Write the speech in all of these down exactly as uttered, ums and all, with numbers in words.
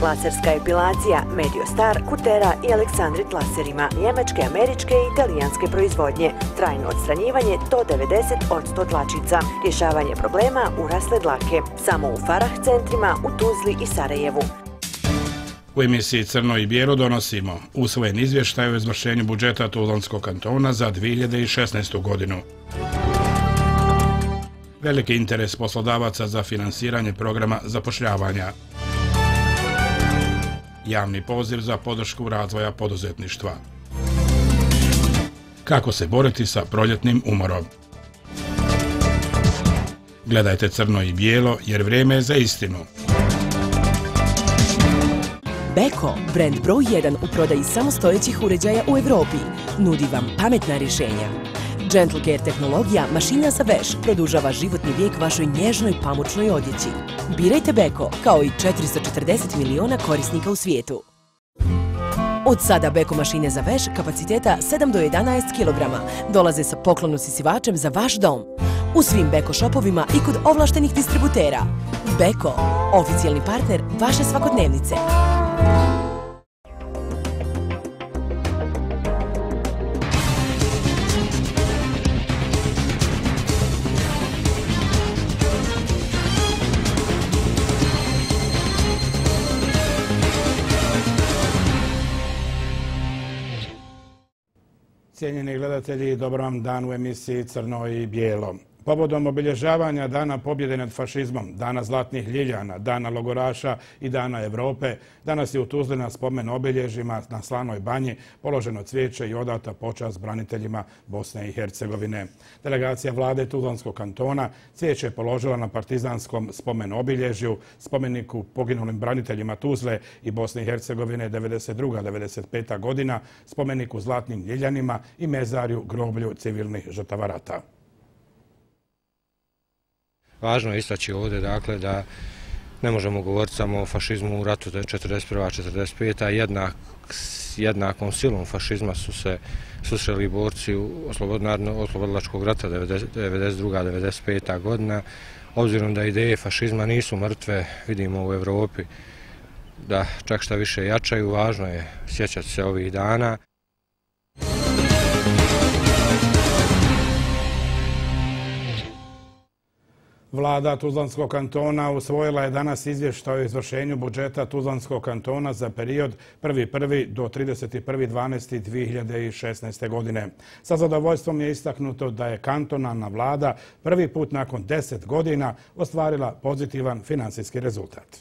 laserska epilacija, Mediostar, Kutera i Aleksandrit laserima, njemačke, američke i italijanske proizvodnje, trajno odstranjivanje do devedeset posto dlačica, rješavanje problema urasle dlake, samo u Farah centrima u Tuzli i Sarajevu. U emisiji Crno i bijelo donosimo usvojen izvještaj o izvršenju budžeta Tuzlanskog kantona za dvije hiljade šesnaestu. godinu. Veliki interes poslodavaca za finansiranje programa zapošljavanja. Javni poziv za podršku razvoja poduzetništva. Kako se boriti sa proljetnim umorom? Gledajte Crno i bijelo jer vrijeme je za istinu. Beko, brend broj jedan u prodaji samostojećih uređaja u Evropi, nudi vam pametna rješenja. Gentle Care tehnologija, mašina za veš, produžava životni vijek vašoj nježnoj pamučnoj odjeći. Birajte Beko, kao i četiristo četrdeset miliona korisnika u svijetu. Od sada Beko mašine za veš kapaciteta sedam do jedanaest kilograma dolaze sa poklonu sisivačem za vaš dom. U svim Beko šopovima i kod ovlaštenih distributera. Beko, oficijalni partner vaše svakodnevnice. Cijenjeni gledatelji, dobar vam dan u emisiji Crno i bijelo. Povodom obilježavanja Dana pobjede nad fašizmom, Dana zlatnih ljiljana, Dana logoraša i Dana Evrope, danas je u Tuzli na spomen obilježjima na Slanoj banji položeno cvijeće i odata počast braniteljima Bosne i Hercegovine. Delegacija vlade Tuzlanskog kantona cvijeće je položila na partizanskom spomen obilježju, spomeniku poginulim braniteljima Tuzle i Bosne i Hercegovine devedeset druga do devedeset peta. godina, spomeniku zlatnim ljiljanima i mezarju groblju civilnih žrtava rata. Važno je istaći ovdje dakle, da ne možemo govoriti samo o fašizmu u ratu četrdeset prva do četrdeset peta. Jednak, jednakom silom fašizma su se susreli borci oslobodilačkog rata devedeset druga do devedeset peta. godina. Obzirom da ideje fašizma nisu mrtve, vidimo u Evropi da čak šta više jačaju, važno je sjećati se ovih dana. Vlada Tuzlanskog kantona usvojila je danas izvještaj o izvršenju budžeta Tuzlanskog kantona za period prvi prvog do trideset prvi dvanaesti dvije hiljade šesnaeste. godine. Sa zadovoljstvom je istaknuto da je kantonalna vlada prvi put nakon deset godina ostvarila pozitivan finansijski rezultat.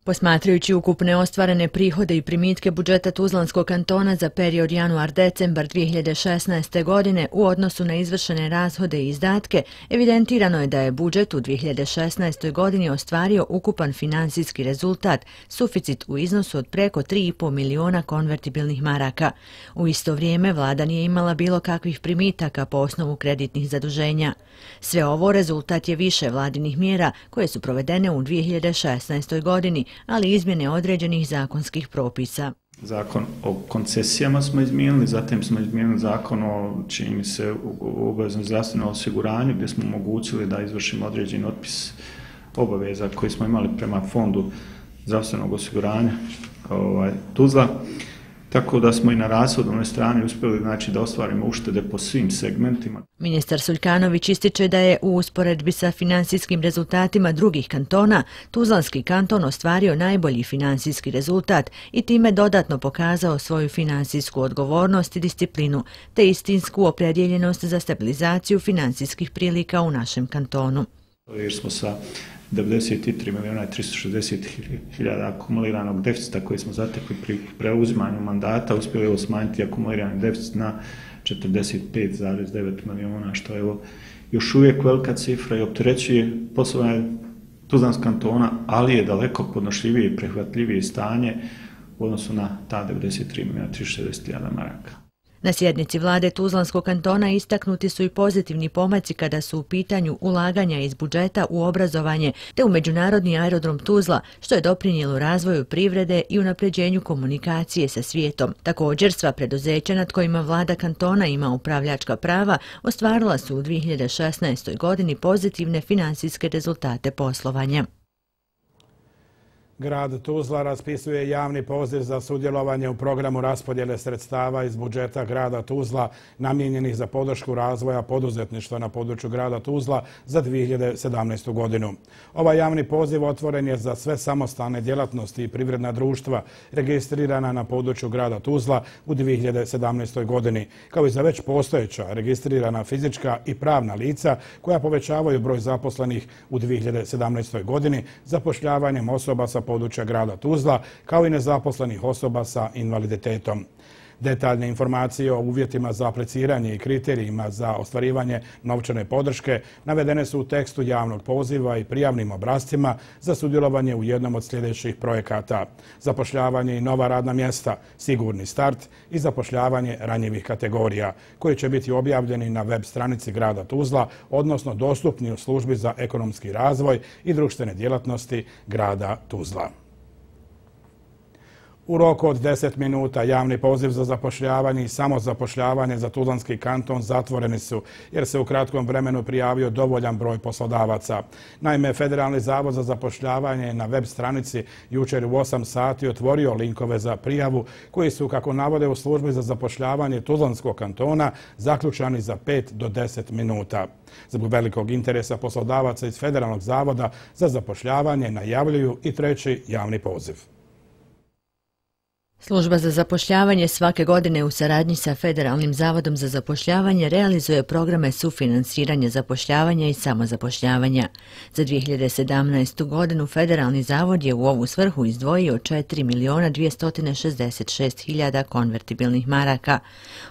Posmatrajući ukupne ostvarene prihode i primitke budžeta Tuzlanskog kantona za period januar-decembar dvije hiljade šesnaeste. godine u odnosu na izvršene rashode i izdatke, evidentirano je da je budžet u dvije hiljade šesnaestoj. godini ostvario ukupan finansijski rezultat, suficit u iznosu od preko tri i po miliona konvertibilnih maraka. U isto vrijeme vlada nije imala bilo kakvih primitaka po osnovu kreditnih zaduženja. Sve ovo rezultat je više vladinih mjera koje su provedene u dvije hiljade šesnaestoj. godini, ali izmjene određenih zakonskih propisa. Zakon o koncesijama smo izmijenili, zatim smo izmijenili zakon o, čini mi se, obaveznom zdravstvenom osiguranju, gdje smo omogućili da izvršimo određeni otpis obaveza koji smo imali prema fondu zdravstvenog osiguranja ovaj, Tuzla. Tako da smo i na rashodovnoj strani uspjeli znači, da ostvarimo uštede po svim segmentima. Ministar Suljkanović ističe da je u usporedbi sa finansijskim rezultatima drugih kantona Tuzlanski kanton ostvario najbolji finansijski rezultat i time dodatno pokazao svoju finansijsku odgovornost i disciplinu, te istinsku opredjeljenost za stabilizaciju finansijskih prilika u našem kantonu. Jer smo sa devedeset tri miliona i tristo šezdeset hiljada akumuliranog deficita koji smo zatekli pri preuzimanju mandata, uspjeli smanjiti akumulirani deficit na četrdeset pet zarez devet miliona, što je evo, još uvijek velika cifra i opterećuje poslovanje Tuzlanskog kantona, ali je daleko podnošljivije i prihvatljivije stanje u odnosu na ta devedeset tri miliona i tristo šezdeset hiljada maraka. Na sjednici vlade Tuzlanskog kantona istaknuti su i pozitivni pomaci kada su u pitanju ulaganja iz budžeta u obrazovanje te u međunarodni aerodrom Tuzla, što je doprinijelo razvoju privrede i unapređenju komunikacije sa svijetom. Također, sva preduzeća nad kojima vlada kantona ima upravljačka prava ostvarila su u dvije hiljade šesnaestoj. godini pozitivne finansijske rezultate poslovanja. Grad Tuzla raspisuje javni poziv za sudjelovanje u programu raspodjele sredstava iz budžeta grada Tuzla namijenjenih za podršku razvoja poduzetništva na području grada Tuzla za dvije hiljade sedamnaestu. godinu. Ovaj javni poziv otvoren je za sve samostalne djelatnosti i privredna društva registrirana na području grada Tuzla u dvije hiljade sedamnaestoj. godini, kao i za već postojeća registrirana fizička i pravna lica koja povećavaju broj zaposlenih u dvije hiljade sedamnaestoj. godini zapošljavanjem osoba sa područja grada Tuzla, kao i nezaposlenih osoba sa invaliditetom. Detaljne informacije o uvjetima za apliciranje i kriterijima za ostvarivanje novčane podrške navedene su u tekstu javnog poziva i prijavnim obrascima za sudjelovanje u jednom od sljedećih projekata: zapošljavanje i nova radna mjesta, sigurni start i zapošljavanje ranjivih kategorija, koji će biti objavljeni na web stranici grada Tuzla, odnosno dostupni u službi za ekonomski razvoj i društvene djelatnosti grada Tuzla. U roku od deset minuta javni poziv za zapošljavanje i samozapošljavanje za Tuzlanski kanton zatvoreni su, jer se u kratkom vremenu prijavio dovoljan broj poslodavaca. Naime, Federalni zavod za zapošljavanje je na web stranici jučer u osam sati otvorio linkove za prijavu, koji su, kako navode u službi za zapošljavanje Tuzlanskog kantona, zaključani za pet do deset minuta. Zbog velikog interesa poslodavaca iz Federalnog zavoda za zapošljavanje najavljuju i treći javni poziv. Služba za zapošljavanje svake godine u saradnji sa Federalnim zavodom za zapošljavanje realizuje programe sufinansiranja zapošljavanja i samozapošljavanja. Za dvije hiljade sedamnaestu. godinu Federalni zavod je u ovu svrhu izdvojio četiri miliona dvjesto šezdeset šest hiljada konvertibilnih maraka.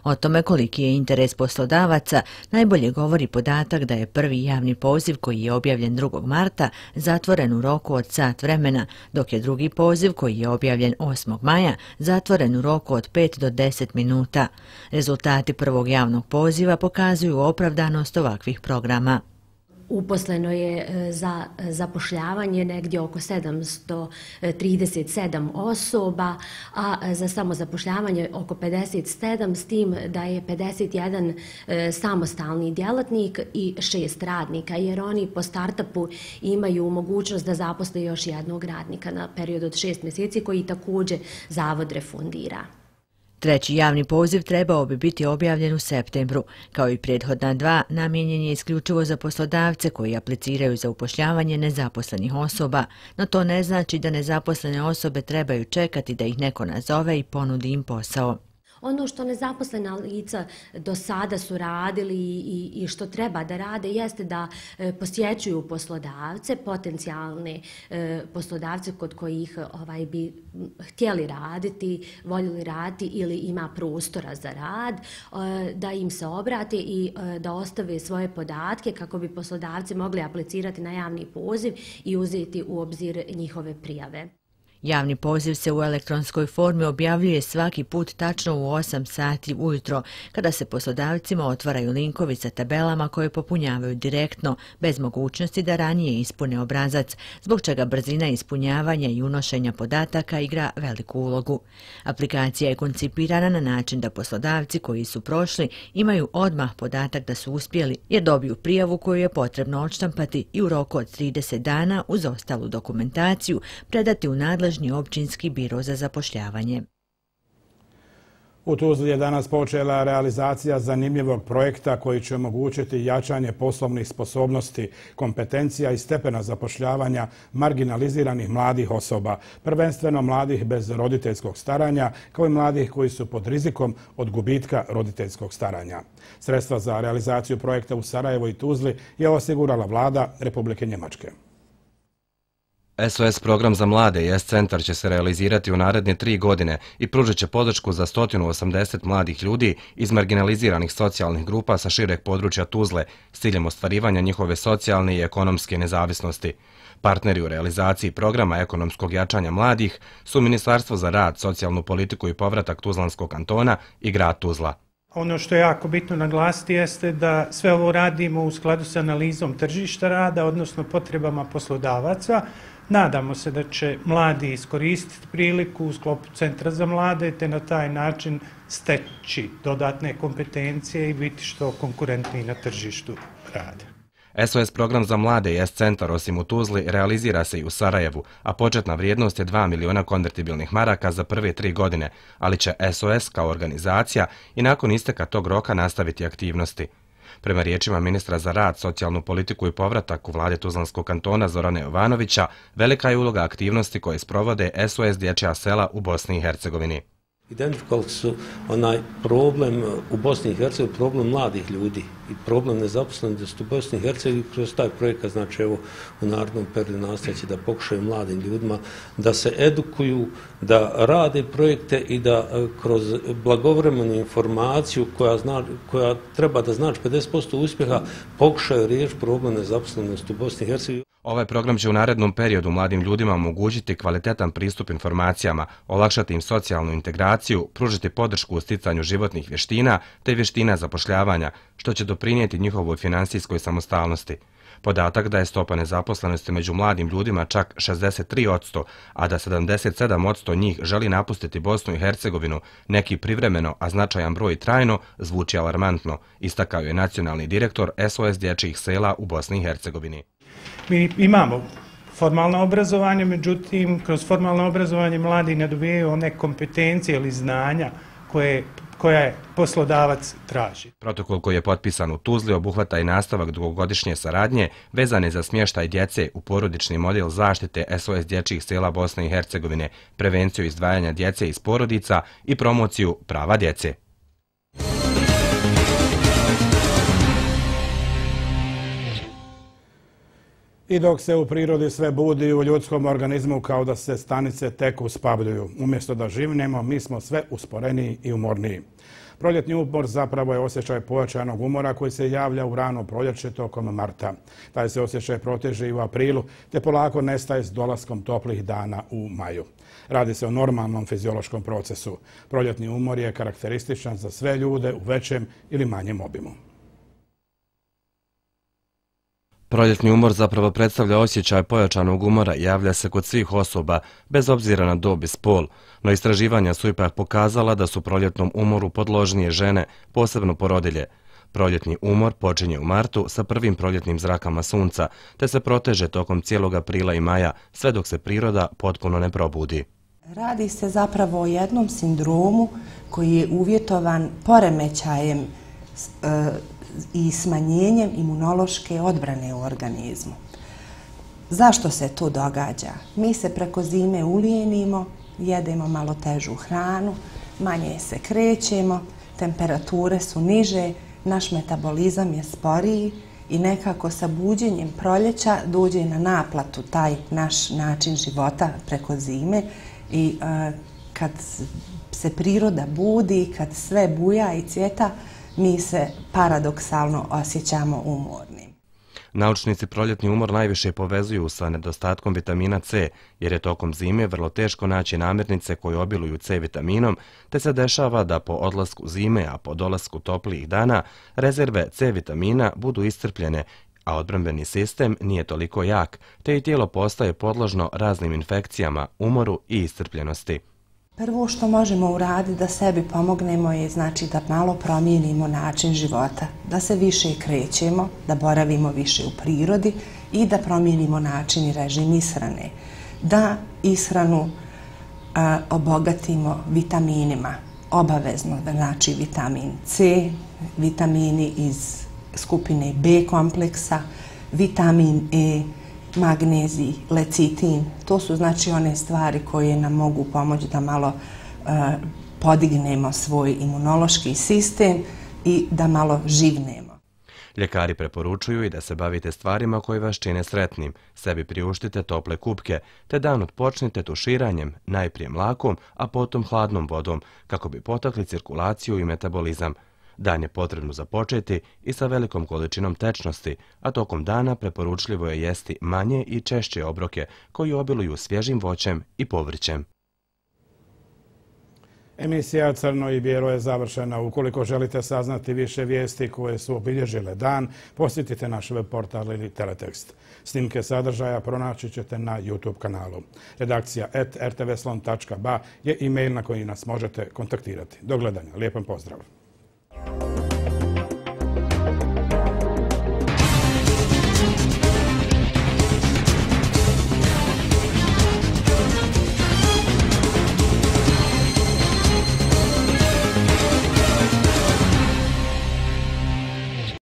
O tome koliki je interes poslodavaca najbolje govori podatak da je prvi javni poziv, koji je objavljen drugog marta, zatvoren u roku od sat vremena, dok je drugi poziv, koji je objavljen osmog maja, zatvoren u roku od pet do deset minuta. Rezultati prvog javnog poziva pokazuju opravdanost ovakvih programa. Uposleno je za zapošljavanje negdje oko sedamsto trideset sedam osoba, a za samozapošljavanje oko pedeset sedam, s tim da je pedeset jedan samostalni djelatnik i šest radnika, jer oni po startupu imaju mogućnost da zaposle još jednog radnika na period od šest mjeseci, koji također zavod refundira. Treći javni poziv trebao bi biti objavljen u septembru. Kao i prethodna dva, namijenjen je isključivo za poslodavce koji apliciraju za upošljavanje nezaposlenih osoba, no to ne znači da nezaposlene osobe trebaju čekati da ih neko nazove i ponudi im posao. Ono što nezaposlena lica do sada su radili i, i što treba da rade jeste da e, posjećuju poslodavce, potencijalne e, poslodavce kod kojih ovaj, bi htjeli raditi, voljeli raditi ili ima prostora za rad, e, da im se obrate i e, da ostave svoje podatke kako bi poslodavci mogli aplicirati na javni poziv i uzeti u obzir njihove prijave. Javni poziv se u elektronskoj formi objavljuje svaki put tačno u osam sati ujutro, kada se poslodavcima otvaraju linkovi sa tabelama koje popunjavaju direktno, bez mogućnosti da ranije ispune obrazac, zbog čega brzina ispunjavanja i unošenja podataka igra veliku ulogu. Aplikacija je koncipirana na način da poslodavci koji su prošli imaju odmah podatak da su uspjeli, jer dobiju prijavu koju je potrebno odštampati i u roku od trideset dana uz ostalu dokumentaciju predati u nadležnost općinski biro za zapošljavanje. U Tuzli je danas počela realizacija zanimljivog projekta koji će omogućiti jačanje poslovnih sposobnosti, kompetencija i stepena zapošljavanja marginaliziranih mladih osoba, prvenstveno mladih bez roditeljskog staranja, kao i mladih koji su pod rizikom od gubitka roditeljskog staranja. Sredstva za realizaciju projekta u Sarajevu i Tuzli je osigurala vlada Republike Njemačke. S O S program za mlade i S-centar će se realizirati u naredne tri godine i pružit će podršku za sto osamdeset mladih ljudi iz marginaliziranih socijalnih grupa sa šireg područja Tuzle s ciljem ostvarivanja njihove socijalne i ekonomske nezavisnosti. Partneri u realizaciji programa ekonomskog jačanja mladih su Ministarstvo za rad, socijalnu politiku i povratak Tuzlanskog kantona i grad Tuzla. Ono što je jako bitno naglasiti jeste da sve ovo radimo u skladu sa analizom tržišta rada, odnosno potrebama poslodavaca. Nadamo se da će mladi iskoristiti priliku u sklopu Centra za mlade te na taj način steći dodatne kompetencije i biti što konkurentniji na tržištu rada. S O S program za mlade jest centar, osim u Tuzli, realizira se i u Sarajevu, a početna vrijednost je dva miliona konvertibilnih maraka za prve tri godine, ali će S O S kao organizacija i nakon isteka tog roka nastaviti aktivnosti. Prema riječima ministra za rad, socijalnu politiku i povratak u vlade Tuzlanskog kantona Zorana Jovanovića, velika je uloga aktivnosti koje sprovode S O S dječja sela u Bosni i Hercegovini. Identifikovali su onaj problem u Bosni i Hercegovini, problem mladih ljudi i problem nezaposlenosti u Bosni i Hercegovini kroz taj projekat, znači evo u narednom periodu nastajeći da pokušaju mladim ljudima da se edukuju, da rade projekte i da kroz blagovremenu informaciju koja, zna, koja treba da znači pedeset posto uspjeha pokušaju riješiti problem nezaposlenosti u Bosni i Hercegovini. Ovaj program će u narednom periodu mladim ljudima omogućiti kvalitetan pristup informacijama, olakšati im socijalnu integraciju, pružiti podršku u sticanju životnih vještina te vještina zapošljavanja, što će doprinijeti njihovoj finansijskoj samostalnosti. Podatak da je stopa nezaposlenosti među mladim ljudima čak šezdeset tri posto, a da sedamdeset sedam posto njih želi napustiti Bosnu i Hercegovinu, neki privremeno, a značajan broj trajno, zvuči alarmantno, istakao je nacionalni direktor S O S dječjih sela u Bosni i Hercegovini. Mi imamo formalno obrazovanje, međutim, kroz formalno obrazovanje mladi ne dobijaju one kompetencije ili znanja koje, koje poslodavac traži. Protokol koji je potpisan u Tuzli obuhvata i nastavak dugogodišnje saradnje vezane za smještaj djece u porodični model zaštite S O S dječjih sela Bosne i Hercegovine, prevenciju izdvajanja djece iz porodica i promociju prava djece. I dok se u prirodi sve budi, u ljudskom organizmu kao da se stanice tek uspabljuju. Umjesto da živnemo, mi smo sve usporeniji i umorniji. Proljetni umor zapravo je osjećaj pojačanog umora koji se javlja u rano proljeće tokom marta. Taj se osjećaj proteže i u aprilu, te polako nestaje s dolaskom toplih dana u maju. Radi se o normalnom fiziološkom procesu. Proljetni umor je karakterističan za sve ljude u većem ili manjem obimu. Proljetni umor zapravo predstavlja osjećaj pojačanog umora i javlja se kod svih osoba, bez obzira na dob i spol, no istraživanja su ipak pokazala da su proljetnom umoru podložnije žene, posebno porodilje. Proljetni umor počinje u martu sa prvim proljetnim zrakama sunca, te se proteže tokom cijelog aprila i maja, sve dok se priroda potpuno ne probudi. Radi se zapravo o jednom sindromu koji je uvjetovan poremećajem e, i smanjenjem imunološke odbrane u organizmu. Zašto se to događa? Mi se preko zime ulijenimo, jedemo malo težu hranu, manje se krećemo, temperature su niže, naš metabolizam je sporiji i nekako sa buđenjem proljeća dođe na naplatu taj naš način života preko zime i uh, kad se priroda budi, kad sve buja i cvjeta, mi se paradoksalno osjećamo umornim. Naučnici proljetni umor najviše povezuju sa nedostatkom vitamina C, jer je tokom zime vrlo teško naći namirnice koje obiluju C vitaminom, te se dešava da po odlasku zime, a po dolasku toplijih dana, rezerve C vitamina budu iscrpljene, a odbrambeni sistem nije toliko jak, te i tijelo postaje podložno raznim infekcijama, umoru i iscrpljenosti. Prvo što možemo uraditi da sebi pomognemo je znači da malo promijenimo način života, da se više krećemo, da boravimo više u prirodi i da promijenimo način i režim ishrane. Da ishranu a, obogatimo vitaminima, obavezno, znači vitamin C, vitamini iz skupine B kompleksa, vitamin E, magnezij, lecitin. To su znači one stvari koje nam mogu pomoći da malo uh, podignemo svoj imunološki sistem i da malo živnemo. Ljekari preporučuju i da se bavite stvarima koje vas čine sretnim. Sebi priuštite tople kupke, te dan odpočnite tuširanjem, najprije mlakom, a potom hladnom vodom, kako bi potakli cirkulaciju i metabolizam. Dan je potrebno započeti i sa velikom količinom tečnosti, a tokom dana preporučljivo je jesti manje i češće obroke koji obiluju svježim voćem i povrćem. Emisija Crno i bijelo je završena. Ukoliko želite saznati više vijesti koje su obilježile dan, posjetite naš web portal ili teletekst. Snimke sadržaja pronaći ćete na YouTube kanalu. Redakcija et er te ve slon tačka ba je e-mail na koji nas možete kontaktirati. Do gledanja. Lijepan pozdrav.